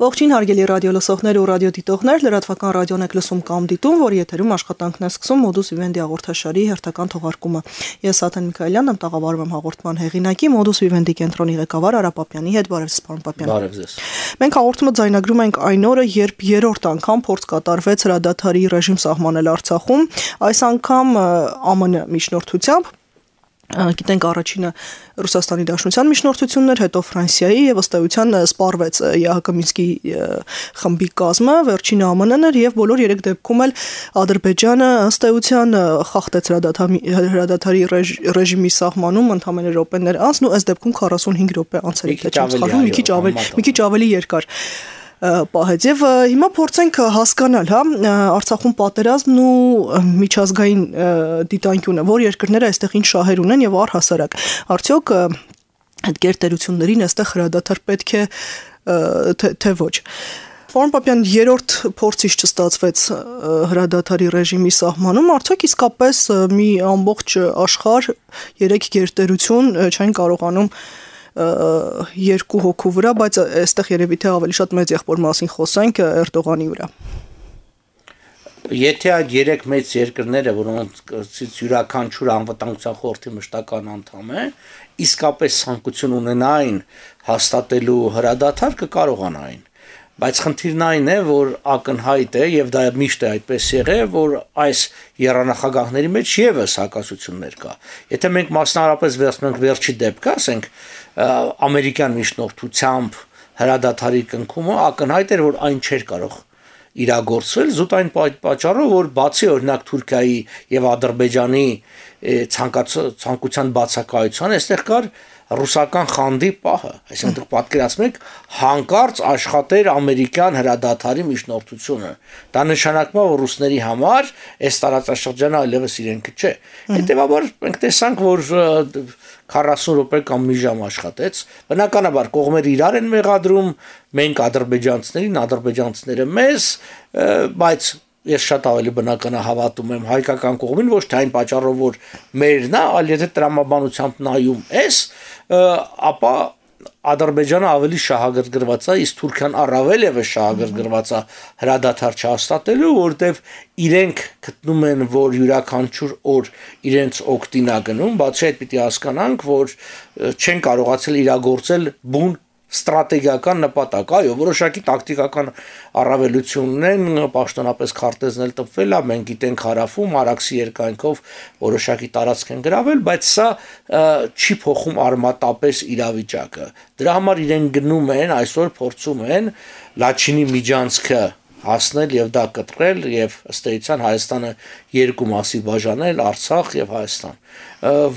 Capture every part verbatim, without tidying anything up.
Ողջույն հարգելի ռադիոլսողներ ու ռադիոդիտողներ, լրատվական ռադիոն եք լսում կամ դիտում, որ եթերում աշխատանքն է սկսում Modus Vivendi հաղորդաշարի հերթական թողարկումը։ Ես Աթեն Միքայելյանն եմ, տաղավարում եմ հաղորդման հեղինակի Modus Vivendi կենտրոնի ղեկավար Արա Պապյանի հետ։ Բարև ձեզ, պարոն Պապյան։ Բարև ձեզ։ Մենք հաղորդումը ձայնագրում ենք այն օրը, երբ երրորդ անգամ փորձ կատարվեց հրադադարի ռեժիմ սահմանել Արցախում, այս անգամ ԱՄՆ միջնորդությամբ։ Գիտենք առաջինը Ռուսաստանի Դաշնության միջնորդությունն էր, հետո Ֆրանսիայի եւ ըստ էության սպառվեց ԵԱՀԿ Մինսկի խմբի կազմը, վերջինը ԱՄՆ-ն էր եւ բոլոր երեք դեպքում էլ Ադրբեջանը ըստ էության խախտեց հրադադարի ռեժիմի սահմանում ընդամենը րոպեներ անց, ու այս դեպքում քառասունհինգ րոպե անց էր, թե չեմ սխալվում, մի քիչ ավելի, մի քիչ ավելի երկար պահեց եւ հիմա փորձենք հասկանալ, հա, Արցախում պատերազմն ու միջազգային դիտանկյունը, որ երկրները այստեղ ինչ շահեր ունեն եւ առհասարակ արդյոք այդ գերտերություններին այստեղ հրադադար պետք է թե ոչ։ Պարոն Պապյան, երրորդ փորձից չստացվեց հրադադարի ռեժիմի սահմանում, արդյոք իսկապես մի ամբողջ աշխարհ երեք գերտերություն չեն կարողանում երկու հոգու վրա, բայց այստեղ երևի թե ավելի շատ մեծ եղբոր մասին խոսենք Էրդողանի վրա։ Եթե այդ երեք մեծ երկրները, որոնցից յուրաքանչյուր անվտանգության խորհրդի մշտական անդամ է, իսկապես ցանկություն ունենային հաստատելու հրադադար, կկարողանային։ Բայց խնդիրն այն է, որ ակնհայտ է եւ դա միշտ է այդպես եղել, որ այս երանախագահների մեջ եւս հակասություններ կա։ Եթե մենք մասնավորապես վերցնենք վերջի դեպքը, ասենք ամերիկյան միջնորդությամբ հրադադարի կնքումը, ակնհայտ էր, որ այն չէր կարող իրագործվել զուտ այն պատճառով, որ բացի օրինակ Թուրքիայի եւ Ադրբեջանի ցանկության բացակայության, այստեղ կար ռուսական խանդի պահը, այսինքն դուք պատկերացնում եք հանկարծ աշխատեր ամերիկյան հրադադարի միջնորդությունը։ Դա նշանակում է, որ ռուսների համար այս տարածաշրջանը այլևս իրենքը չէ։ Հետևաբար մենք տեսանք, որ քառասուն րոպե կամ մի ժամ աշխատեց։ Բնականաբար կողմերը իրար են մեղադրում, մենք ադրբեջանցիներին, ադրբեջանցիները մեզ, բայց ես շատ ավելի բնական հավատում եմ հայկական կողմին, ոչ թե այն պատճառով, որ մերն է, այլ եթե տրամաբանությամբ նայում ես, ապա Ադրբեջանը ավելի շահագրգռված է, իսկ Թուրքիան առավել եւս շահագրգռված է հրադադար չհաստատելու, որտեվ իրենք գտնում են, որ յուրաքանչյուր օր իրենց օգտին է գնում, բացի այդ պիտի հասկանանք, որ չեն կարողացել իրագործել բուն ստրատեգիական նպատակ, այո, որոշակի տակտիկական առավելությունն են, պաշտոնապես քարտեզն էլ տպվել է, մենք գիտենք հարավում, Արաքսի երկայնքով որոշակի տարածք են գրավել, բայց սա չի փոխում արմատապես իրավիճակը։ Դրա համար իրեն գնում են, այսօր փորձում են Լաչինի միջանցքը հասնել եւ դա կտրել եւ ըստ էության Հայաստանը երկու մասի բաժանել, Արցախ եւ Հայաստան,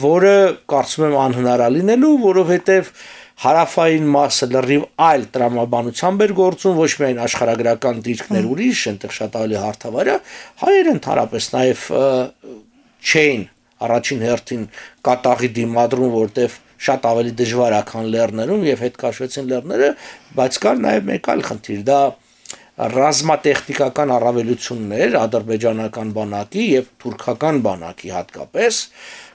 որը կարծում եմ անհնար է լինելու, որովհետեւ հարավային մասը լրիվ այլ տրամաբանությամբ էր գործում, ոչ միայն աշխարհագրական դիրքներ ուրիշ, այնտեղ շատ ավելի հարթավայր է, հայերը ընդհանրապես նաև չէին առաջին հերթին կատաղի դիմադրում, որտեվ շատ ավելի դժվար է, քան լեռներում եւ հետ կաշվեցին լեռները, բայց կար նաև մեկ այլ խնդիր, դա ռազմատեխնիկական առավելություններ ադրբեջանական բանակի եւ թուրքական բանակի հատկապես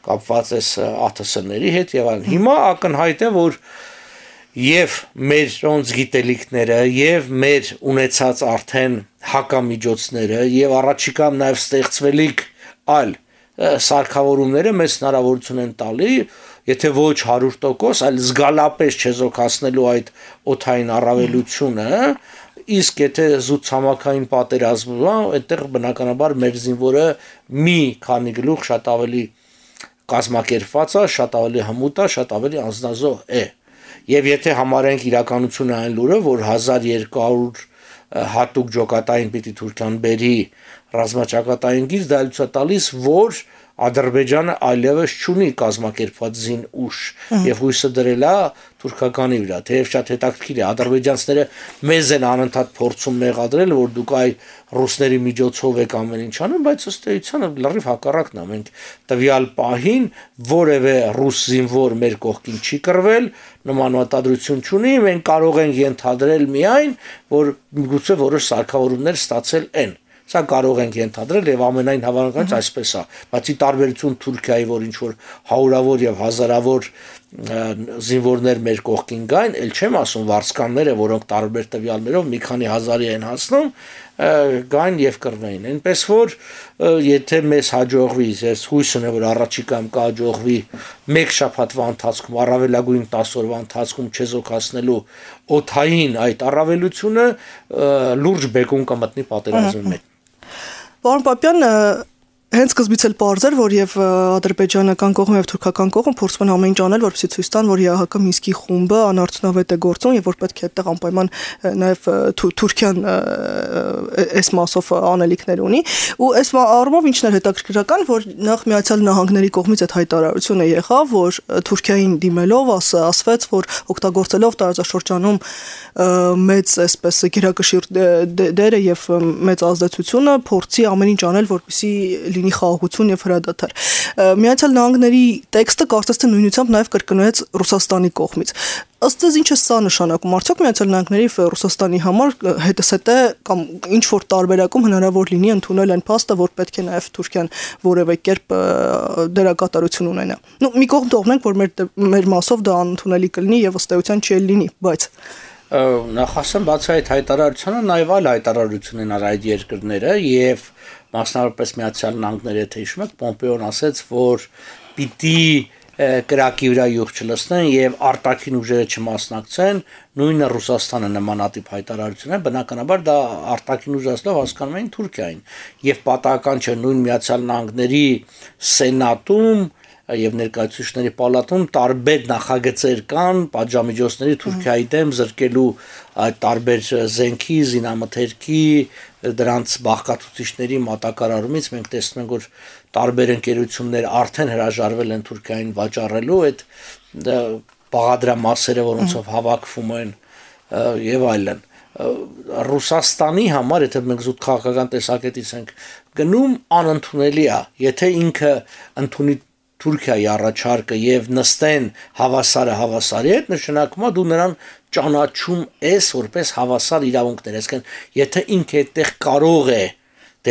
կապված է ԱԹՍ-ների հետ եւ այլն։ Հիմա ակնհայտ է, որ եւ մեր ոնց գիտելիքները եւ մեր ունեցած արդեն հակամիջոցները եւ առաջիկամ նաեւ ստեղծվելիք այլ սարքավորումները մեծ հնարավորություն են տալի, եթե ոչ հարյուր տոկոս, այլ զգալապես չեզոքացնելու այդ օդային առավելությունը, իսկ եթե զուտ ցամաքային պատերազմ է, այդտեղ բնականաբար մեր զինվորը մի քանի գլուխ շատ ավելի կազմակերպված է, շատ ավելի հմուտ է, շատ ավելի անձնազոհ է։ Եվ եթե համարենք իրականությունը այն լուրը, որ հազար երկու հարյուր հատուկ ջոկատային պիտի Թուրքիան բերի ռազմաճակատային գիծ, դա լույս է տալիս, որ Ադրբեջանը այլևս չունի կազմակերպված զին ուժ եւ հույսը դրել է թուրքականի վրա, թեև շատ հետաքրքիր է, ադրբեջանցիները մեզ են անընդհատ փորձում մեղադրել, որ դուք այ ռուսների միջոցով եք ամեն ինչ անում, բայց ըստ էության լրիվ հակառակն է, մենք տվյալ պահին որևէ ռուս զինվոր մեր կողքին չի կռվել, նման մտադրություն չունի, մենք կարող ենք ենթադրել միայն, որ միգուցե որոշ սարքավորումներ ստացել են։ Սա կարող ենք ենթադրել եւ ամենայն հավանականից այսպես է, բացի տարբերություն Թուրքիայի, որ ինչ որ հարյուրավոր եւ հազարավոր զինվորներ մեր կողքին գային, ել չեմ ասում վարձկանները, որոնք տարբեր տվյալներով մի քանի հազարի են հասնում, գային եւ կռվեին։ Այնպես որ եթե մեզ հաջողվի, ես հույս ունեմ, որ առաջիկայում կհաջողվի մեկ շաբաթվա ընթացքում, առավելագույն տասը օրվա ընթացքում չեզոքացնելու օդային այդ առավելությունը լուրջ բեկում կմտնի պատերազմի մեջ։ Պարոն Պապյան, հենց սկզբից էլ պարզ էր, որ եւ ադրբեջանական կողմը եւ թուրքական կողմը փորձում են ամեն ինչ անել, որպեսզի ցույց տան, որ ԵԱՀԿ Մինսկի խումբը անարդյունավետ է գործում եւ որ պետք է այդտեղ անպայման նաեւ Թուրքիան այս մասով անելիքներ ունի։ Ու այս առումով ինչն էր հետաքրքրական, որ նախ Միացյալ Նահանգների կողմից այդ հայտարարությունը եղավ, որ Թուրքիային դիմելով ասվեց, որ օգտագործելով տարածաշրջանում մեծ այսպես գերակշիռ դերը եւ մեծ ազդեցությունը փորձի ամեն ինչ անել, որպեսզի լինի խաղաղություն եւ հրադադար։ Միացյալ Նահանգների տեքստը կարծես թե նույնությամբ նաեւ կրկնվեց Ռուսաստանի կողմից։ Ըստ ձեզ ինչ է սա նշանակում, արդյոք Միացյալ Նահանգների եւ Ռուսաստանի համար հետսեթե կամ ինչ որ տարբերակում հնարավոր լինի ընդունել այն փաստը, որ պետք է նաեւ Թուրքիան որևէ կերպ դերակատարություն ունենա։ Ну մի կողմ թողնենք, որ մեր մեր մասով դա անընդունելի կլինի եւ ըստ էության չի լինի, բայց նախ ասեմ, բացի այդ հայտարարությունը նաև այլ հայտարարություն են արել այդ երկրները եւ մասնավորապես Միացյալ Նահանգները, եթե հիշում եք, Պոմպեոն ասաց, որ պիտի կրակի վրա յուղ չլցնեն եւ արտաքին ուժերը չմասնակցեն, նույնը Ռուսաստանը նմանատիպ հայտարարություն է, բնականաբար դա արտաքին ուժ ասելով հասկանում են Թուրքիային եւ պատահական չէ նույն Միացյալ Նահանգների սենատում եւ ներկայացուցիչների պալատում տարբեր նախագծեր կան պատժամիջոցների Թուրքիայի դեմ զրկելու այդ տարբեր զենքի, զինամթերքի, դրանց բաղկացուցիչների մատակարարումից մենք տեսնում ենք, որ տարբեր ընկերություններ արդեն հրաժարվել են Թուրքիային վաճառելու այդ բաղադրամասերը, որոնցով հավաքվում են եւ այլն։ Ռուսաստանի համար, եթե մենք զուտ քաղաքական տեսակետից ենք գնում, անընդունելի է, եթե ինքը ընդունի Թուրքիայի առաջարկը եւ նստեն հավասարը հավասարի հետ, նշանակում է դու նրան ճանաչում ես որպես հավասար իրավունքներ, այսինքն եթե ինքը այդտեղ կարող է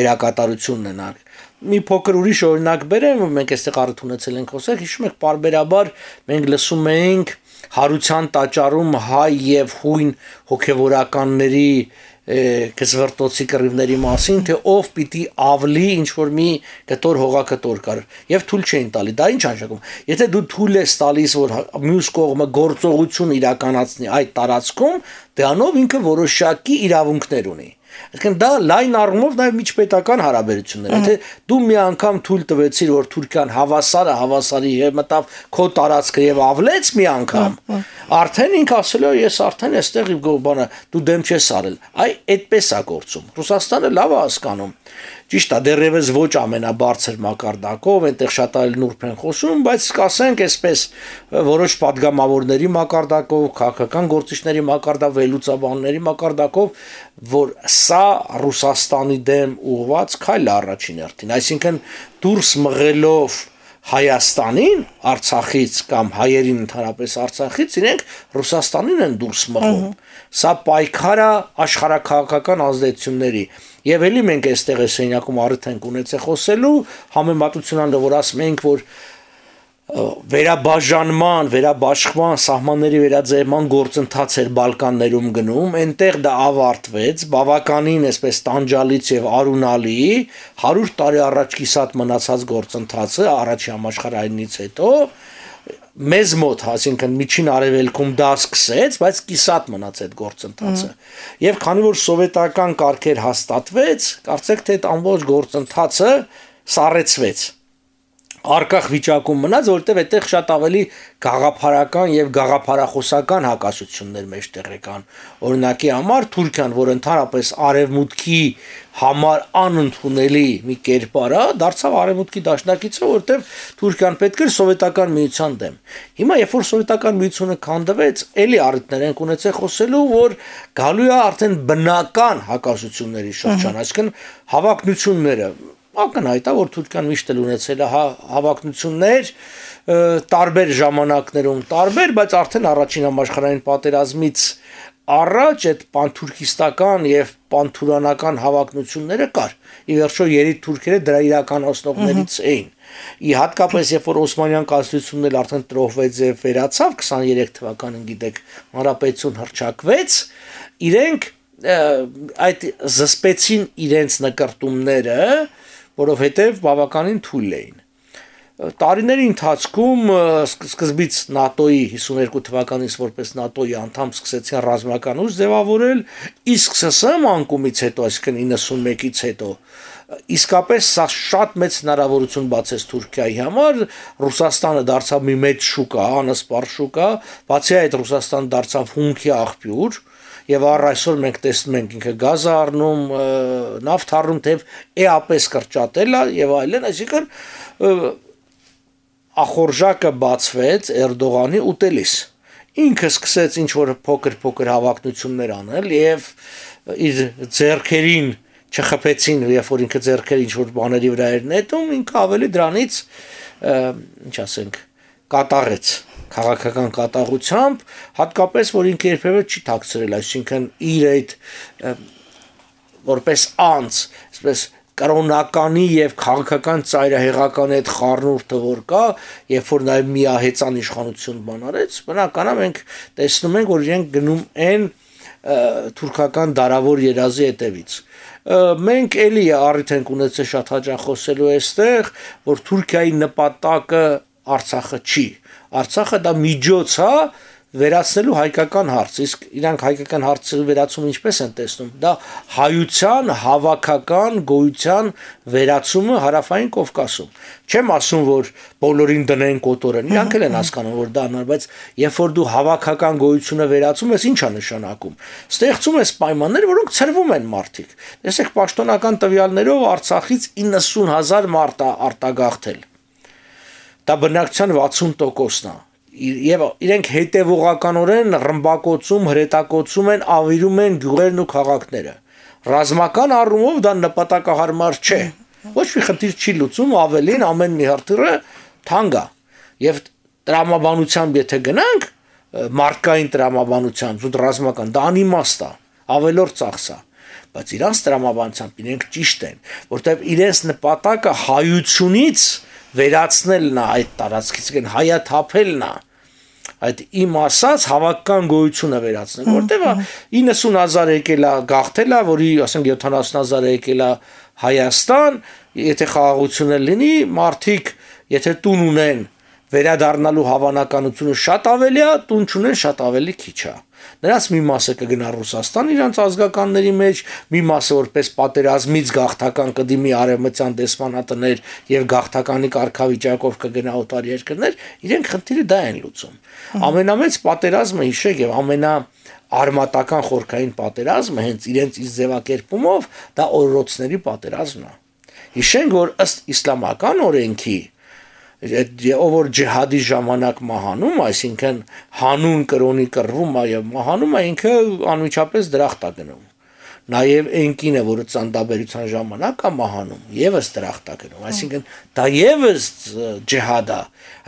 դերակատարություն ունենալ։ Մի փոքր ուրիշ օրինակ բերեմ, մենք այստեղ առիթ ունեցել ենք խոսել, հիշում եք, բարբերաբար մենք լսում էինք հարության տաճարում հայ եւ հույն հոգեվորականների կզվրտոցի կռիվների մասին, թե ով պիտի ավլի ինչ որ մի կտոր հողակտոր կար եւ թույլ չէին տալի։ Դա ինչ անշակում։ Եթե դու թույլ ես տալիս, որ մյուս կողմը գործողություն իրականացնի այդ տարածքում, դրանով ինքը որոշակի իրավունքներ ունի։ Այսինքն դա լայն առումով նաև միջպետական հարաբերություններ։ Եթե դու մի անգամ թույլ տվեցիր, որ Թուրքիան հավասարը հավասարի հետ մտավ քո տարածքը եւ ավլեց մի անգամ, արդեն ինքը ասել է, ես արդեն այստեղ բանը դու դեմ չես արել։ Այ այդպես է գործում։ Ռուսաստանը լավ է հասկանում։ Ճիշտ է, դեռևս ոչ ամենաբարձր մակարդակով, այնտեղ շատ այլ նուրբ են խոսում, բայց կասենք այսպես որոշ падգամավորների մակարդակով, քաղաքական գործիչների մակարդակով, վերլուծաբանների մակարդակով, որ սա Ռուսաստանի դեմ ուղղված քայլ է առաջին հերթին, այսինքն դուրս մղելով Հայաստանին Արցախից կամ հայերին ընդհանրապես Արցախից իրենք Ռուսաստանին են դուրս մղում։ Սա պայքար է աշխարհաքաղաքական ազդեցությունների։ Եվ էլի մենք այստեղ է սենյակում առիթ ենք ունեցել խոսելու համեմատություն անելով, որ ասում ենք, որ վերաբաժանման, վերաբաշխման, սահմանների վերաձեռնման գործընթաց էր Բալկաններում գնում, այնտեղ դա ավարտվեց, բավականին այսպես տանջալից եւ արունալի հարյուր տարի առաջ կիսատ մնացած գործընթացը առաջի համաշխարհայինից հետո մեզ մոտ, այսինքն միջին արևելքում դա սկսեց, բայց կիսատ մնաց այդ գործընթացը։ Եվ քանի որ սովետական կարգեր հաստատվեց, կարծեք թե այդ ամբողջ գործընթացը սառեցվեց։ Արկախ վիճակում մնաց, որտեղ այդտեղ շատ ավելի գաղափարական եւ գաղափարախոսական հակասություններ մեջտեղ եկան։ Օրինակի համար Թուրքիան, որ ընդհանրապես արևմուտքի համար անընդունելի մի կերպար է, դարձավ արևմուտքի դաշնակիցը, որտեղ Թուրքիան պետք էր սովետական միության դեմ։ Հիմա երբ որ սովետական միությունը քանդվեց, էլի առիթներ են ունեցել խոսելու, որ գալու է արդեն բնական հակասությունների շրջան, այսինքն հավակնությունները ակնհայտ է, որ Թուրքիան միշտ էլ ունեցել է հավակնություններ տարբեր ժամանակներում տարբեր, բայց արդեն առաջին համաշխարհային պատերազմից առաջ այդ պանթուրքիստական եւ պանթուրանական հավակնությունները կար։ Ի վերջո երեք թուրքերը դրա իրականացնողներից էին։ Ի հատկապես երբ որ Օսմանյան կայսրությունն էլ արդեն տրոհվեց եւ վերացավ քսաներեք թվականին, գիտեք, հանրապետություն հռչակվեց, իրենք այդ զսպեցին իրենց նկարտումները, որովհետեւ բավականին թույլ էին։ Տարիների ընթացքում սկզբից ՆԱՏՕ-ի հիսուներկու թվականից որպես ՆԱՏՕ-ի անդամ սկսեցին ռազմական ուժ ձևավորել, իսկ ՍՍՍ անկումից հետո, այսինքն իննսունմեկից հետո, իսկապես սա շատ մեծ հնարավորություն բացեց Թուրքիայի համար, Ռուսաստանը դարձավ մի մեծ շուկա, անսպառ շուկա, բացի այդ Ռուսաստանը դարձավ հումքի աղբյուր, եւ առ այսօր մենք տեսնում ենք ինքը գազ առնում, նավթ առնում, թեև էապես կրճատել է եւ այլն, այսինքն ախորժակը բացվեց Էրդողանի ուտելիս։ Ինքը սկսեց ինչ որ փոքր-փոքր հավակնություններ անել եւ իր ձեռքերին չխփեցին, երբ որ ինքը ձեռքերը ինչ որ բաների վրա էր նետում, ինքը ավելի դրանից ինչ ասենք, կատաղեց քաղաքական կատաղությամբ, հատկապես որ ինքը երբևէ չի թաքցրել, այսինքն իր այդ որպես անձ, այսպես կրոնականի եւ քաղաքական ծայրահեղական այդ խառնուրդը որ կա, երբ որ նաեւ միահեծան իշխանություն բան արեց, բնականաբար մենք տեսնում ենք, որ իրենք գնում են թուրքական դարավոր երազի հետևից։ Մենք էլի առիթ ենք ունեցել շատ հաճախ խոսելու այստեղ, որ Թուրքիայի նպատակը Արցախը չի։ Արցախը դա միջոց է վերացնելու հայկական հարց, իսկ իրանք հայկական հարցը վերացումը ինչպես են տեսնում, դա հայության հավաքական գոյության վերացումը հարավային Կովկասում։ Չեմ ասում, որ բոլորին դնեն կոտորեն, իրանք էլ են հասկանում, որ դա անար, բայց երբ որ դու հավաքական գոյությունը վերացում ես, ի՞նչ է նշանակում։ Ստեղծում ես պայմաններ, որոնք ցրվում են մարդիկ։ Տեսեք, պաշտոնական տվյալներով Արցախից իննսուն հազար մարդ է արտագաղթել։ Դա բնակչության վաթսուն տոկոսն է։ Եվ իրենք հետևողականորեն ռմբակոծում, հրետակոծում են, ավիրում են գյուղերն ու քաղաքները։ Ռազմական առումով դա նպատակահարմար չէ։ Ոչ մի խնդիր չի լուծում, ավելին ամեն մի հրթիռը թանկ է։ Եվ տրամաբանությամբ եթե գնանք, մարդկային տրամաբանությամբ, զուտ ռազմական, դա անիմաստ է, ավելորդ ծախս է։ Բայց իրանց տրամաբանությամբ իրենք ճիշտ են, որտեղ իրենց նպատակը հայությունից վերացնելն է այդ տարածքից, կեն հայաթափելն է, այդ իմ ասած հավաքական գոյությունը վերացնել, որտեղ իննսուն հազար եկել է գաղթել է, որի ասենք յոթանասուն հազար եկել է Հայաստան, եթե խաղաղություն լինի, մարդիկ, եթե տուն ունեն, վերադառնալու հավանականությունը շատ ավելի է, տուն չունեն շատ ավելի քիչ է։ Նրանց մի մասը կգնա Ռուսաստան իրանց ազգականների մեջ, մի մասը որպես պատերազմից գաղթական կդիմի արևմտյան դեսպանատներ եւ գաղթականի կարգավիճակով կգնա օտար երկրներ, իրենք խնդիրը դա են լուծում։ Ամենամեծ պատերազմը հիշեք եւ ամենա արմատական խորքային պատերազմը հենց իրենց իր ձևակերպումով դա օրորոցների պատերազմն է։ Հիշենք, որ ըստ իսլամական օրենքի ով որ ջիհադի ժամանակ մահանում, այսինքն հանուն կրոնի կռվում է եւ մահանում է, ինքը անմիջապես դրախտ է գնում։ Նաեւ այն կինը, որը ծննդաբերության ժամանակ է մահանում, եւս դրախտ է գնում, այսինքն դա եւս ջիհադ է,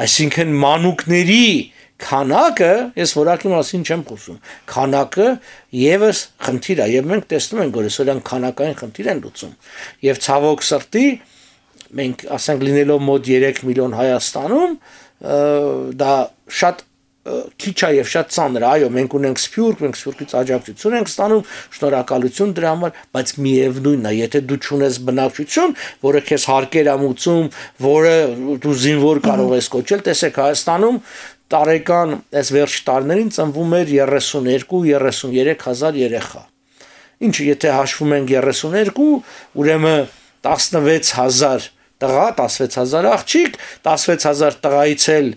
այսինքն մանուկների քանակը, ես որակի մասին չեմ խոսում, քանակը եւս խնդիր է եւ մենք տեսնում ենք, որ այսօրյան քանակային խնդիր են լուծում եւ ցավոք սրտի մենք ասենք լինելով մոտ երեք միլիոն Հայաստանում, դա շատ քիչ է եւ շատ ծանր է, այո, մենք ունենք Սփյուռք, մենք Սփյուռքից աջակցություն ենք ստանում, շնորհակալություն դրա համար, բայց միևնույնն է, եթե դու չունես բնակչություն, որը քեզ հարկեր է մուծում, որը դու զինվոր կարող ես կոչել, տեսեք Հայաստանում տարեկան այս վերջ տարիներին ծնվում էր երեսունյոթ երեսունյուրեք հազար երեխա։ Ինչը եթե հաշվում ենք երեսունյոթ, ուրեմն տասնվեց հազար տղա, տասնվեց հազար աղջիկ, տասնվեց հազար տղայից էլ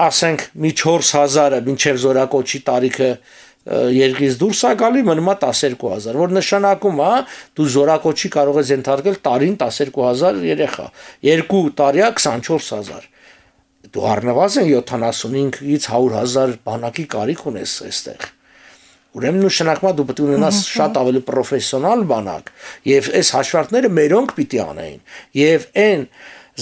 ասենք մի չորս հազարը մինչև զորակոչի տարիքը երկրից դուրս է գալի, մնում է տասներկու հազար, որ նշանակում է դու զորակոչի կարող ես ենթարկել տարին տասներկու հազար երեխա, երկու տարիա քսանչորս հազար, դու առնվազն յոթանասունհինգից հարյուր հազար բանակի կարիք ունես այստեղ։ Ուրեմն նշանակում է դու պետք է ունենաս շատ ավելի պրոֆեսիոնալ բանակ եւ այս հաշվարկները մերոնք պիտի անեին եւ այն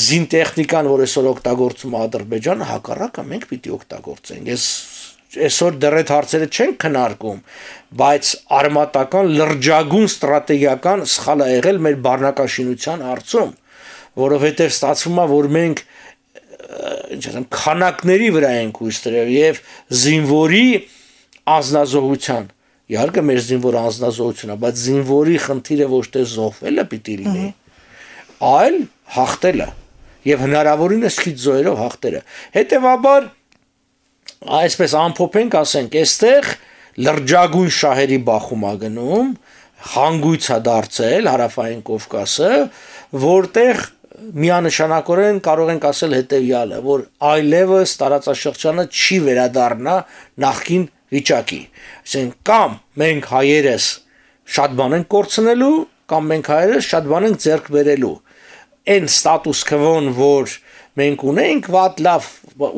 զինտեխնիկան, որ այսօր օգտագործում է Ադրբեջանը, հակառակը մենք պիտի օգտագործենք։ Ես այսօր դեռ այդ հարցերը չեն քննարկում, բայց արմատական լրջագույն ստրատեգիական սխալ է եղել մեր բառնակաշինության հարցում, որովհետև ստացվում է, որ մենք ինչ ասեմ, քանակների վրա ենք հույս դրել եւ զինվորի անznազողության, իհարկե մեր զինվոր անznազողությունը, բայց զինվորի խնդիրը ոչ թե զոհվելը պիտի լինի, այլ հաղթելը եւ հնարավորինս քիչ զոհերով հաղթելը։ Հետեւաբար այսպես ամփոփենք, ասենք, այստեղ լրջագույն շահերի բախում է գնում, հանգույց է դարձել Հարավային Կովկասը, որտեղ միանշանակորեն կարող ենք ասել հետևյալը, որ այլևս տարածաշրջանը չի վերադառնա նախկին վիճակի։ Այսինքն կամ մենք հայերս շատ բան ենք կորցնելու, կամ մենք հայերս շատ բան ենք ձեռք բերելու։ Այն ստատուս քվոն, որ մենք ունենք, վատ լավ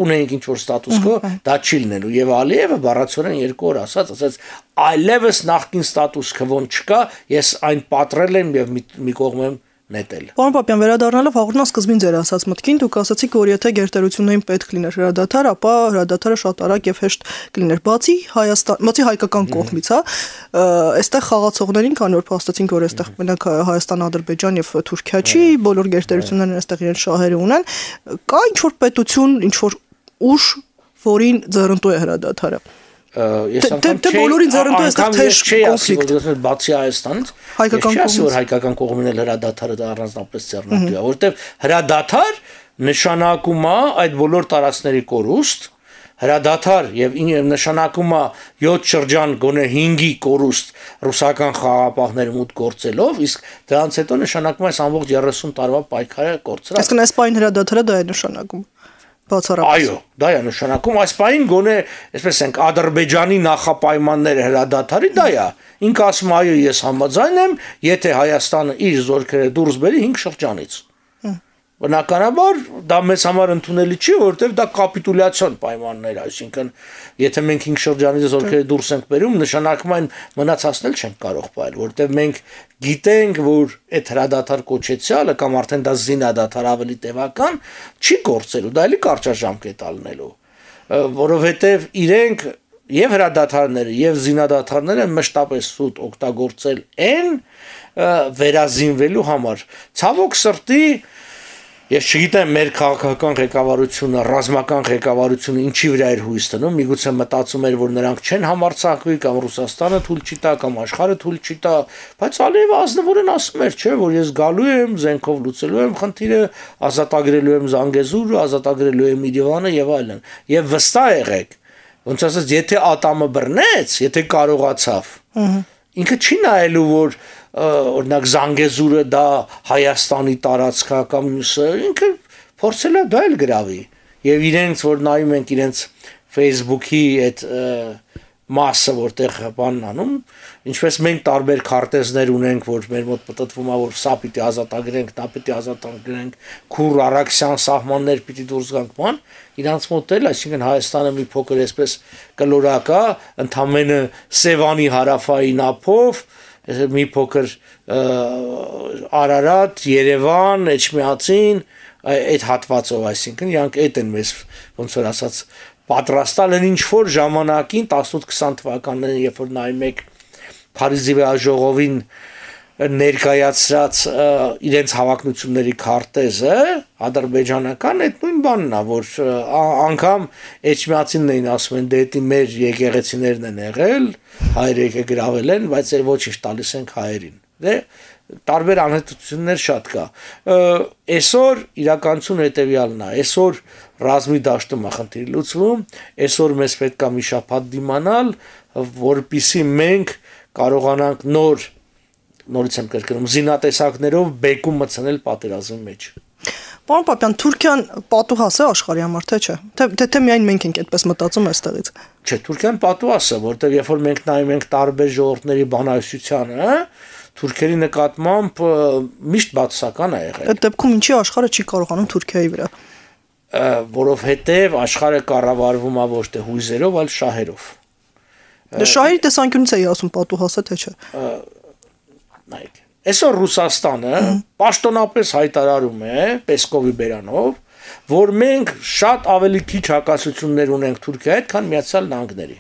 ունենք ինչ որ ստատուս քո, դա չի լինելու եւ Ալիևը բառացորեն երկու օր ասաց, ասաց այլևս նախկին ստատուս քվոն չկա, ես այն պատրել եմ եւ մի կողմ եմ նետել։ Պարոն Պապյան, վերադառնալով հաղորդման սկզբին ձեր ասած մտքին, դուք ասացիք, որ եթե գերտերություններին պետք լիներ հրադադար, ապա հրադադարը շատ արագ եւ հեշտ կլիներ։ Բացի Հայաստան, բացի հայկական կողմից, հա, այստեղ խաղացողներին, քանի որ փաստեցինք, որ այստեղ մենակ Հայաստան, Ադրբեջան եւ Թուրքիա չի, բոլոր գերտերություններն այստեղ իրենց շահերը ունեն, կա ինչ որ պետություն, ինչ որ ուժ, որին ձեռնտու է հրադադարը։ Ես անգամ չէի բոլորին ձեռնտու է այստեղ թեժ կոնֆլիկտ, որ բացի Հայաստանից հայկական կողմից, որ հայկական կողմին էլ հրադադարը դա առանձնապես ձեռնտու է, որովհետև հրադադար նշանակում է այդ բոլոր տարածքների կորուստ, հրադադար եւ նշանակում է յոթ շրջան գոնե հինգի կորուստ ռուսական խաղապահները մուտք գործելով, իսկ դրանից հետո նշանակում է այս ամբողջ երեսուն տարվա պայքարը կորցրած։ Այսինքն այս պայն հրադադարը դա է նշանակում։ Այո, դա է նշանակում, այս պահին գոնե, այսպես ենք, Ադրբեջանի նախապայմանները հրադադարի դա է։ Ինքը ասում է, այո, ես համաձայն եմ, եթե Հայաստանը իր զորքերը դուրս բերի հինգ շրջանից։ Բնականաբար դա մեզ համար ընդունելի չի, որովհետև դա կապիտուլյացիոն պայմաններ, այսինքն եթե մենք հինգ շրջանից զորքերը դուրս ենք բերում, նշանակում այն մնացածնել չենք կարող պայել, որովհետև մենք գիտենք, որ այդ հրադադար կոչեցյալը կամ արդեն դա զինադադար ավելի տևական չի գործելու, դա էլի կարճաժամկետ ալնելու, որովհետև իրենք եւ հրադադարները եւ զինադադարները մշտապես սուտ օգտագործել են վերազինվելու համար։ Ցավոք սրտի Ես չգիտեմ մեր քաղաքական ղեկավարությունը, ռազմական ղեկավարությունը ինչի վրա էր հույս դնում, միգուցե մտածում էր, որ նրանք չեն համարձակվի կամ Ռուսաստանը թույլ չի տա կամ աշխարհը թույլ չի տա, բայց Ալիևը ազնվորեն ասում էր, չէ, որ ես գալու եմ, զենքով լուծելու եմ խնդիրը, ազատագրելու եմ Զանգեզուրը, ազատագրելու եմ Երևանը եւ այլն։ Եվ վստահ եղեք, ոնց ասած, եթե ատամը բռնեց, եթե կարողացավ, ինքը չի նայելու, որ օրինակ Զանգեզուրը դա Հայաստանի տարածքա կամ մյուսը, ինքը փորձել է դա էլ գրավի եւ իրենց որ նայում ենք իրենց Facebook-ի այդ մասը որտեղ բանն անում, ինչպես մենք տարբեր քարտեզներ ունենք, որ մեր մոտ պատտվում է, որ սա պիտի ազատագրենք, դա պիտի ազատագրենք, քուր Արաքսյան սահմաններ պիտի դուրս գանք, բան, իրանց մոտ էլ, այսինքն Հայաստանը մի փոքր այսպես կլորակա, ընդամենը Սևանի հարավային ափով մի փոքր Արարատ, Երևան, Էջմիածին, այդ հատվածով, այսինքն իրանք այդ են մեզ ոնց որ ասած պատրաստալ են ինչ որ ժամանակին տասնութ քսան թվականներին, երբ որ նայում եք Փարիզի վեաժողովին ներկայացրած իրենց հավակնությունների քարտեզը, ադրբեջանական այդ նույն բանն է, որ անգամ Էջմիածինն էին ասում են, դե դա մեր եկեղեցիներն են եղել, հայերը եկե գրավել են, բայց էլ ոչինչ տալիս ենք հայերին։ Դե տարբեր անհետություններ շատ կա։ Այսօր իրականությունը հետևյալն է, այսօր ռազմի դաշտում է խնդիրը լուծվում, այսօր մեզ պետք է մի շաբաթ դիմանալ, որպեսզի մենք կարողանանք նոր նորից եմ կրկնում զինատեսակներով բեկում մտցնել պատերազմի մեջ։ Պարոն Պապյան, Թուրքիան պատուհաս է աշխարհի համար, թե չէ։ Թե թե միայն մենք ենք այդպես մտածում այստեղից։ Չէ, Թուրքիան պատուհաս է, որտեղ երբ որ մենք նայում ենք տարբեր ժողովուրդների բանահյուսությանը, թուրքերի նկատմամբ միշտ բացասական է եղել։ Այդ դեպքում ինչի աշխարհը չի կարողանում Թուրքիայի վրա։ Որովհետև աշխարհը կառավարվում է ոչ թե հույզերով, այլ շահերով։ Դե շահերի տեսանկյունից էի ասում պատուհաս է, թե չէ։ Նայեք, Այսօր Ռուսաստանը պաշտոնապես հայտարարում է Պեսկովի բերանով, որ մենք շատ ավելի քիչ հակասություններ ունենք Թուրքիայի հետ, քան Միացյալ Նահանգների։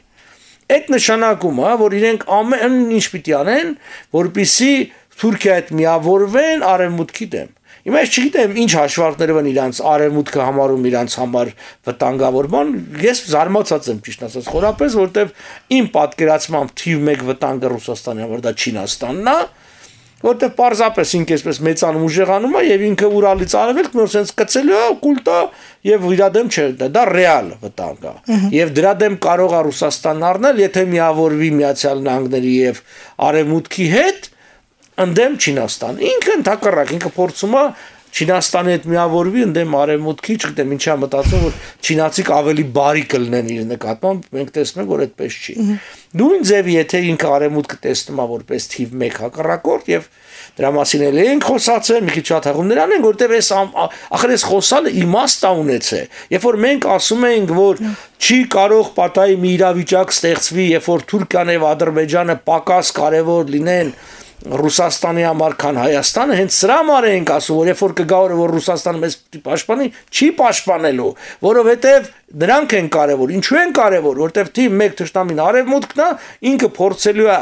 Այդ նշանակում է, որ իրենք ամեն ինչ պիտի անեն, որպեսզի Թուրքիայի հետ միավորվեն արևմուտքի դեմ։ Հիմա ես չգիտեմ ինչ հաշվարկներով են իրանց արևմուտքը համարում իրանց համար վտանգավոր բան, ես զարմացած եմ ճիշտ ասած, խորապես, որտեվ իմ պատկերացմամբ թիվ մեկ վտանգը Ռուսաստանի համար դա Չինաստանն է, որտեվ պարզապես ինքը այսպես մեծանում ուժեղանում է եւ ինքը Ուրալից արևելք նոր sense կծելու է, կուլտա եւ իր դեմ չէ, դա ռեալ վտանգ է։ Եվ դրա դեմ կարող է Ռուսաստանն առնել, եթե միավորվի Միացյալ Նահանգների եւ Արևմուտքի հետ, ընդդեմ Չինաստան։ Ինքը ընդհակառակ, ինքը փորձում է Չինաստանի հետ միավորվի ընդդեմ Արևմուտքի, չգիտեմ ինչա մտածում, որ չինացիք ավելի բարի կլինեն իր նկատմամբ, մենք տեսնում ենք, որ այդպես չի։ Նույն ձևի, եթե ինքը Արևմուտքը տեսնում է որպես թիվ մեկ հակառակորդ եւ դրա մասին էլ ենք խոսացել, մի քիչ շատ հաղումներ անենք, որտեվ այս ախր այս խոսալը իմաստ է ունեցե։ Երբ որ մենք ասում ենք, որ չի կարող պատահի մի իրավիճակ ստեղծվի, երբ որ Թուրքիան եւ Ադրբեջանը պակաս կարեւոր լինեն Ռուսաստանի համար, քան Հայաստանը, հենց սրա համար ենք ասում, որ երբ որ կգա օրը, որ Ռուսաստանը մեզ պաշտպանի, չի պաշտպանելու, որովհետև նրանք են կարևոր, ինչու են կարևոր, որովհետև թիվ մեկ թշնամին արևմուտքն է, ինքը փորձելու է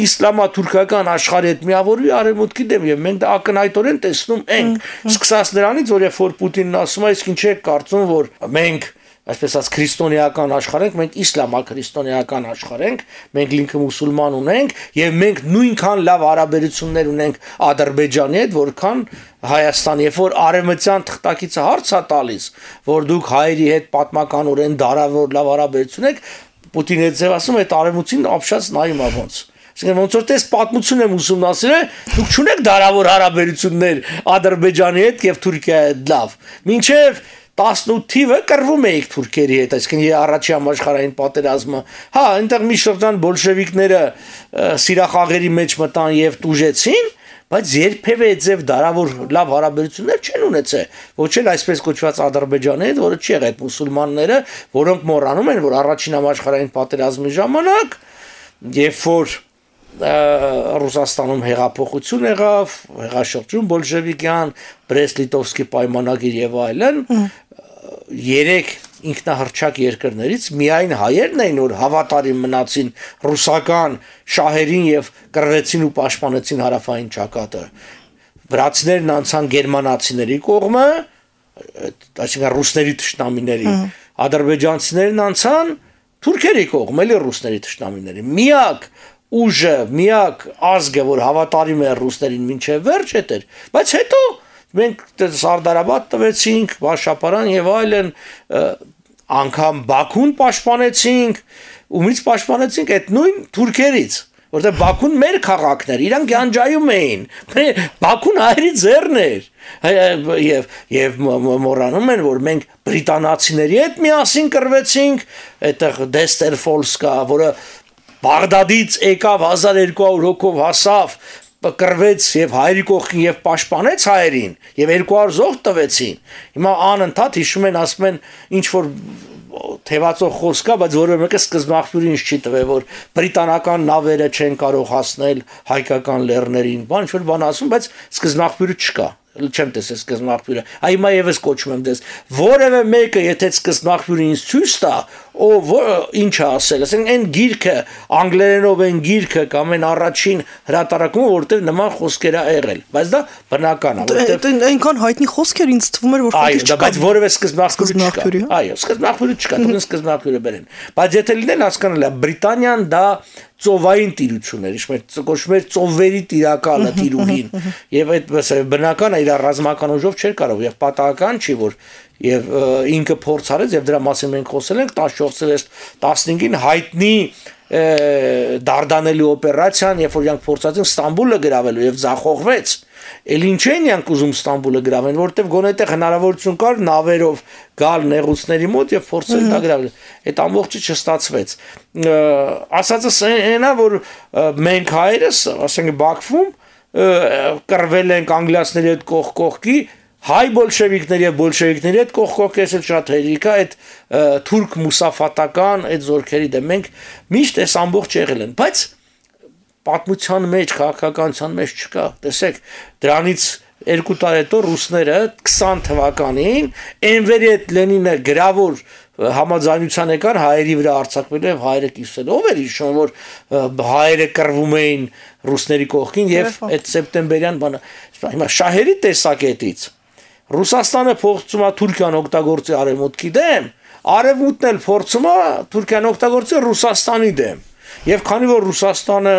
իսլամա-թուրքական աշխարհի հետ միավորվի արևմուտքի դեմ, եւ մենք դա ակնհայտորեն տեսնում ենք, սկսած նրանից, որ երբ որ Պուտինն ասում է, իսկ ինչ է կարծում, որ մենք այսպես ասած քրիստոնեական աշխարհ ենք, մենք իսլամա-քրիստոնեական աշխարհ ենք, մենք լինքը մուսուլման ունենք եւ մենք նույնքան լավ հարաբերություններ ունենք Ադրբեջանի հետ, որքան Հայաստանի, երբ որ արևմտյան թղթակիցը հարց է տալիս, որ դուք հայերի հետ պատմականորեն դարավոր լավ հարաբերություն եք, Պուտինը ձև ասում է, այդ արևմուտքին ապշած նայում է ոնց։ Այսինքն ոնց որ տես պատմություն եմ ուսումնասիրել, դուք չունեք դարավոր հարաբերություններ Ադրբեջանի հետ եւ Թուրքիայի հետ լավ։ Մինչեւ տասնութ թիվը կռվում էիք թուրքերի հետ, այսինքն առաջի համաշխարհային պատերազմը։ Հա, այնտեղ մի շրջան բոլշևիկները սիրախաղերի մեջ մտան եւ տուժեցին, բայց երբևէ ձև դարավոր լավ հարաբերություններ չեն ունեցել։ Ոչ էլ այսպես կոչված Ադրբեջանի հետ, որը չի եղել մուսուլմանները, որոնք մոռանում են, որ առաջին համաշխարհային պատերազմի ժամանակ, երբ որ Ռուսաստանում հեղափոխություն եղավ, հեղաշրջում բոլշևիկյան, Բրեստ-Լիտովսկի պայմանագիր եւ այլն, երեք ինքնահռչակ երկրներից միայն հայերն էին, որ հավատարիմ մնացին ռուսական շահերին եւ կռվեցին ու պաշտպանեցին հարավային ճակատը։ Վրացիներն անցան գերմանացիների կողմը, այսինքն ռուսների թշնամիների, ադրբեջանցիներն անցան թուրքերի կողմը, էլի ռուսների թշնամիների։ Միակ ուժը, միակ ազգը, որ հավատարիմ է ռուսներին մինչև վերջ էր, բայց հետո մենք Սարդարաբադ տվեցինք, Բաշապարան եւ այլն, անգամ Բաքուն պաշտպանեցինք, ումից պաշտպանեցինք այդ նույն թուրքերից, որտեղ Բաքուն մեր քաղաքն էր, իրանք գանջայում էին, Բաքուն հայերի ձեռն էր, եւ եւ մոռանում են, որ մենք բրիտանացիների հետ միասին կռվեցինք, այդտեղ Դեստերֆոլսկա, որը Բաղդադից եկավ հազար երկու հարյուր հոգով հասավ, կռվեց եւ հայերի կողքին եւ պաշտպանեց հայերին եւ երկու հարյուր զոհ տվեցին։ Հիմա անընդհատ հիշում են, ասում են ինչ որ թևածող խոսք է, բայց որևէ մեկը սկզբնաղբյուրի ինչ չի տվել, որ բրիտանական նավերը չեն կարող հասնել հայկական լեռներին, բան ինչ որ բան ասում, բայց սկզբնաղբյուրը չկա։ Չեմ տեսել սկզբնաղբյուրը։ Այ հիմա եւս կոչում եմ դες։ Որևէ մեկը, եթե սկզբնաղբյուրը ինձ ցույց տա, ով ինչ է ասել, ասենք այն գիրքը, անգլերենով այն գիրքը կամ այն առաջին հրատարակումը, որտեղ նման խոսքեր ա եղել, բայց դա բնական է, որտեղ այնքան հայտնի խոսքեր ինձ թվում էր, որ այո, դա բայց որևէ սկզբնաղբյուրը չկա։ Այո, սկզբնաղբյուրը չկա, դուք սկզբնաղբյուրը բերեն։ Բայց եթե լինեն հասկանալ է, Բրիտանիան դա ծովային տիրություն էր, կոչվում էր ծովերի տիրակալը, տիրուհին, եւ այդպես բնական է, իր ռազմական ուժով չէր կարող, եւ պատահական չի, որ եւ ինքը փորձ արեց, եւ դրա մասին մենք խոսել ենք տասնչորս տասնհինգին հայտնի Դարդանելի օպերացիան, երբ որ իրանք փորձացին Ստամբուլը գրավելու եւ ձախողվեց, էլ ինչ են իրանք ուզում Ստամբուլը գրավեն, որովհետեւ գոնե այդտեղ հնարավորություն կար նավերով գալ նեղուցների մոտ եւ փորձել դա գրավել։ Այդ ամբողջը չստացվեց։ Ասածս այնա, որ մենք հայերս, ասենք Բաքվում, կռվել ենք անգլիացիների հետ կողք կողքի, հայ բոլշևիկների եւ բոլշևիկների հետ կողք կողք էսել շատ հերիքա, այդ թուրք մուսաֆատական այդ զորքերի դեմ մենք միշտ այս ամբողջ եղել են, բայց պատմության մեջ, քաղաքականության մեջ չկա։ Տեսեք, դրանից երկու տարի հետո ռուսները քսան թվականին Էնվերի հետ Լենինը գրավոր համաձայնության եկան հայերի վրա արձակվելու եւ հայերը կիսել։ Ով էր հիշում, որ հայերը կռվում էին ռուսների կողքին եւ այդ սեպտեմբերյան բանը։ Հիմա շահերի տեսակետից Ռուսաստանը փոխում է Թուրքիան օգտագործի արևմուտքի դեմ, արևմուտքն էլ փորձում է Թուրքիան օգտագործի Ռուսաստանի դեմ։ Եվ քանի որ Ռուսաստանը,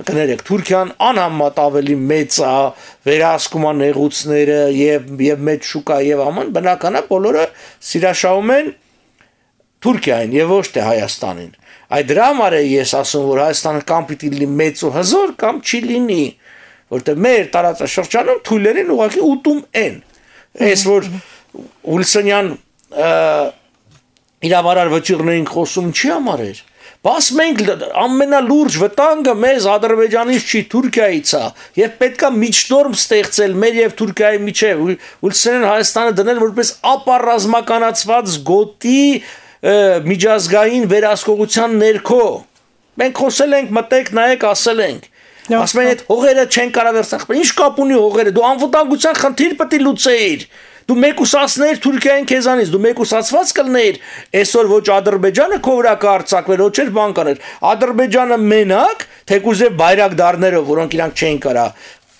կներեք, Թուրքիան անհամեմատ ավելի մեծ է, վերահսկում է նեղուցները եւ եւ մեծ շուկա եւ աման, բնական է բոլորը սիրաշահում են Թուրքիային եւ ոչ թե Հայաստանին։ Այդ դրա համար է ես ասում, որ Հայաստանը կամ պիտի լինի մեծ ու հզոր, կամ չի լինի, որտեղ մեր տարածաշրջանում թույլերին ուղղակի ուտում են։ Այս որ Ուլսանյան իրավարար վճիռներին խոսում չի համար էր։ Բայց մենք ամենալուրջ վտանգը մեզ Ադրբեջանից չի, Թուրքիայից է, եւ պետքա միջնորմ ստեղծել մեր եւ Թուրքիայի միջեւ, Ուլսանյան Հայաստանը դնել որպես ապառազմականացված գոտի միջազգային վերահսկողության ներքո։ Մենք խոսել ենք, մտեք, նայեք, ասել ենք։ Ասում են այդ հողերը չեն կարող վերցնել։ Ինչ կապ ունի հողերը, դու անվտանգության խնդիր պետք է լուծեիր։ Դու մեկուսացներ Թուրքիային քեզանից, դու մեկուսացված կլներ, այսօր ոչ Ադրբեջանը քո վրա կհարձակվեր, ոչ էլ բան կաներ։ Ադրբեջանը մենակ, թեկուզև բայրակդարներով, որոնք իրանք չէին կարա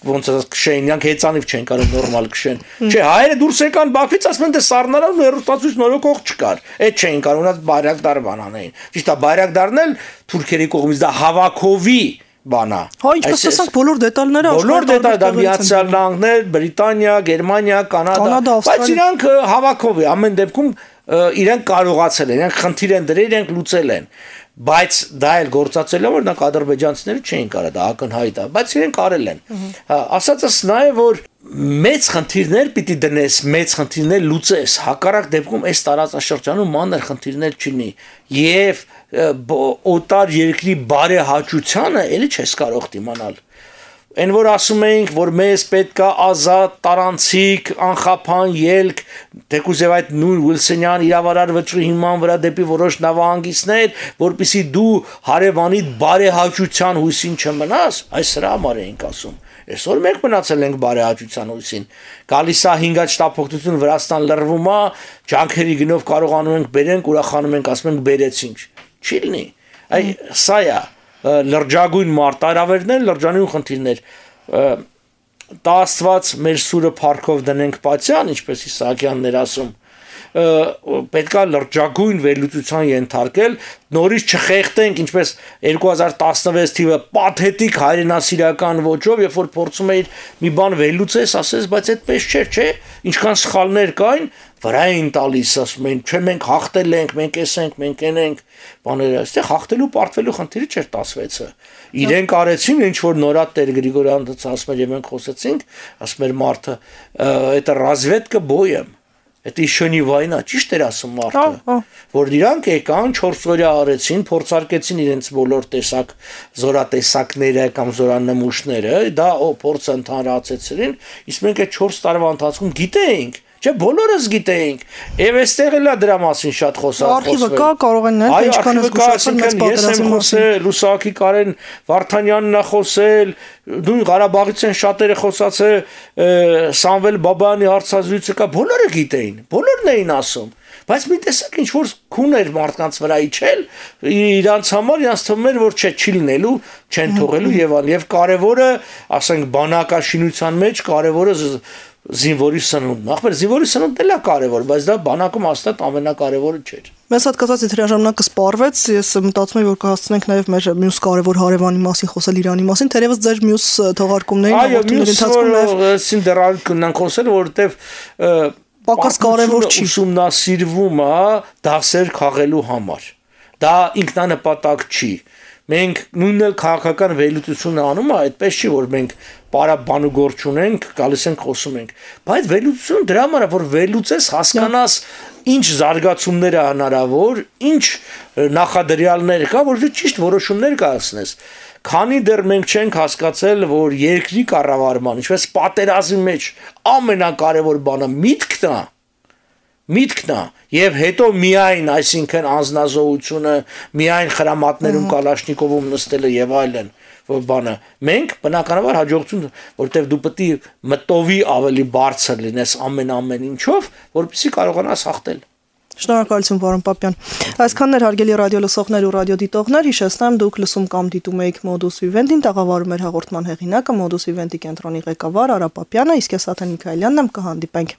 ոնց ասած քշեն, իրանք հեծանիվ չեն կարող նորմալ քշեն։ Չէ, հայերը դուրս եկան Բաքվից, ասում են դե սառնարան ու հերոստացույց նորոգող չկար։ Այդ չէին կարող, ունած բայրակդար բանանային։ Ճիշտ է, բայրակդարն էլ թուրքերի կողմից դա հավաքովի բանա։ Հա, ինչպես ասենք, բոլոր դետալները բոլոր դետալ դա Միացյալ Նահանգներ, Բրիտանիա, Գերմանիա, Կանադա, բայց իրանք հավաքով է, ամեն դեպքում իրենք կարողացել են, իրենք խնդիր են դրել, իրենք լուծել են, բայց դա էլ գործածել է, որ նրանք ադրբեջանցիները չէին կարող, դա ակնհայտ է, բայց իրենք արել են։ Ասածս նա է, որ մեծ խնդիրներ պիտի դնես, մեծ խնդիրներ լուծես, հակառակ դեպքում այս տարածաշրջանում մանր խնդիրներ չունի եւ օտար երկրի բարեհաճությանը էլի չես կարող դիմանալ։ Այն որ ասում էինք, որ մեզ պետքա ազատ, տարանցիկ, անխափան ելք, թեկուզև այդ նույն Ուիլսոնյան իրավարար վճռի հիման վրա դեպի որոշ նավահանգիստներ, որպեսզի դու հարևանիդ բարեհաճության հույսին չմնաս, այս սրա համար էինք ասում։ Այսօր մենք մնացել ենք բարեհաճության հույսին։ Գալիս է հինգ շտապօգնություն Վրաստան լռվում է, ջանքերի գնով կարողանում ենք բերենք, ուրախանում ենք, ասում ենք բերեցինք։ Չի լինի։ Այ սա է լրջագույն մարտահրավերներ, լրջանուն խնդիրներ։ Տա Աստված մեր սուրը փառքով դնենք պատյան, ինչպես Իսահակյանն էր ասում, պետքա լրջագույն վերլուծության ենթարկել, նորից չխեղդենք, ինչպես երկու հազար տասնվեց թիվը պաթետիկ հայրենասիրական ոճով, երբ որ փորձում էիր մի բան վերլուծես, ասես, բայց այդպես չէր, չէ, ինչքան սխալներ կային, վրա էին տալիս, ասում են, չէ, մենք հաղթել ենք, մենք էս ենք, մենք են ենք, բաները, այստեղ հաղթելու պարտվելու խնդիրը չէր տասվեցը։ Իրենք արեցին, ինչ որ նորա Տեր Գրիգորյանը ասում էր, եւ մենք խոսեցինք, ասում էր մարդը, это разведка боем։ Это еще не война, ճիշտ էր ասում մարդը, որ իրանք եկան չորս օրյա արեցին, փորձարկեցին իրենց բոլոր տեսակ զորատեսակները կամ զորանմուշները, դա փորձ ընդհանրացրեցին, իսկ մենք այդ չորս տարվա ընթացքում գիտեինք, չէ, բոլորս գիտեինք, եւ այստեղ էլ է դրա մասին շատ խոսալ խոսվել։ Արխիվը կա, կարող են նայել, ինչքան է զգուշացել մեծ պատերազմի մասին։ Լուսակի Կարեն Վարդանյանն է խոսել, դու Ղարաբաղից են շատերը խոսացել, Սամվել Բաբայանի հարցազրույցը կա, բոլորը գիտեին, բոլորն էին ասում, բայց մի տեսակ ինչ որ քուն էր մարդկանց վրա իջել, իրանց համար իրանց թվում էր, որ չէ, չի լինելու, չեն թողելու եւ այլ, եւ կարեւորը, ասենք, բանակաշինության մեջ կարեւորը զինվորի սնունդն, ախպեր զինվորի սնունդն էլ է կարևոր, բայց դա բանակում հաստատ ամենակարևորը չէր։ Մեզ հատկացած եթերաժամանակը սպառվեց, ես մտածում եմ, որ կհասցնենք նաև մեր մյուս կարևոր հարևանի մասին խոսել, Իրանի մասին, թերևս ձեր մյուս թողարկումներին հաղորդումների ընթացքում նաև սին դեռ կնանք խոսել, որովհետև պակաս կարևոր չի ուսումնասիրվում է դասեր քաղելու համար։ Դա ինքնանպատակ չի։ Մենք նույնն էլ քաղաքական վերլուծությունը անում է, այդպես չի, որ մենք պարաբանուգործ ունենք, գալիս ենք խոսում ենք, բայց վերլուծությունը դրա համար է, որ վերլուծես, հասկանաս ինչ զարգացումներ է հնարավոր, ինչ նախադրյալներ կա, որ ճիշտ որոշումներ կայացնես։ Քանի դեռ մենք չենք հասկացել, որ երկրի կառավարման, ինչպես պատերազմի մեջ ամենակարևոր բանը միտքն է, միտքն է, եւ հետո միայն, այսինքն անznազողությունը, միայն խրամատներում Կալաշնիկովում նստելը եւ այլն, բանը։ Մենք բնականաբար հաջողություն, որտեղ դու պետք է մտովի ավելի բարձր լինես ամեն ամեն ինչով, որպեսզի կարողանաս հաղթել։ Շնորհակալություն, պարոն Պապյան։ Այսքանն էր հարգելի ռադիոլսողներ ու ռադիոդիտողներ, հիշեցնեմ դուք լսում կամ դիտում եք Modus Vivendi-ին, տաղավարում էր հաղորդման հեղինակը Modus Vivendi կենտրոնի ղեկավար Արա Պապյանը, իսկ ես Աթեն Միքայելյանն եմ, կհանդիպենք։